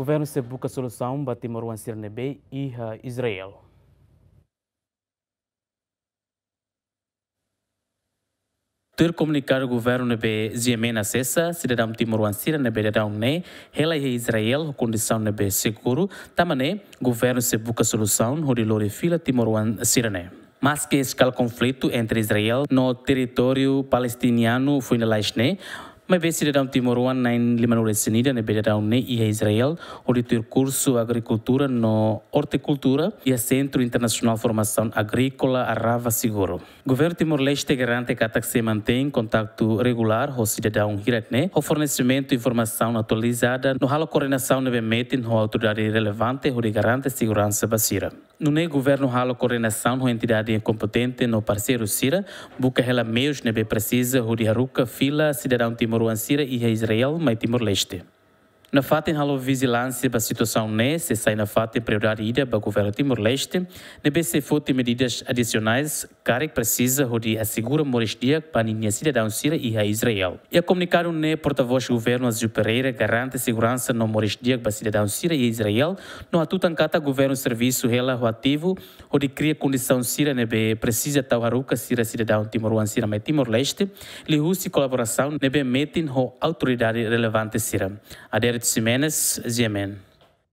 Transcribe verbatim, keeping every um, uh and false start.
Governu sei buka solusaun ba timoroan sira ne'ebé iha Israel. Tuir komunikadu governu ne'ebé GMN asesa, sidadaun timoroan sira ne'ebé daudaun ne'e hela iha Israel ho kondisaun ne'ebé seguru, tanba ne'e governu sei buka solusaun hodi lori fila timoroan sira ne'e. Maske eskala konflitu entre Israel no territóriu palestinianu foin lalais ne'e, maibé sidadaun timoroan na'in lima-nulu-resin-ida ne'ebé daudaun ne'e iha Israel hodi tuir kursu agrikultura no ortikultura iha Sentru Internasionál Formasaun Agríkola Arava Seguru. Governu Timor-Leste garante katak sei mantein kontaktu regulár ho sidadaun hirak ne'e, ho fornesimentu informasaun atualizada no halo koordenasaun ne'ebé metin ho autoridade relevante hodi garante seguransa ba sira. Nune'e governu halo koordenasaun ho entidade kompetente no parseiru sira, buka hela meius ne'ebé presiza hodi haruka fila sidadaun timoroan sira iha Israel mai Timor-Leste. Nafatin halo vijilánsia ba situasaun ne'e sei sai nafatin prioridade ida ba governu Timor-Leste, ne'ebé sei foti medidas adisionais karik presiza hodi asegura moris di'ak ba ninia sidadaun sira iha Israel. Iha komunikadu ne'e, portavós governu Aziu Pereira garante seguransa no moris di'ak ba sidadaun sira iha Israel, no hatutan katak governu servisu hela ho ativu hodi kria kondisaun sira ne'ebé presiza tau haruka sira sidadaun timoroan sira mai Timor-Leste, liuhusi kolaborasaun ne'ebé metin ho autoridade relevante sira. Adérito Ximenes, GMN.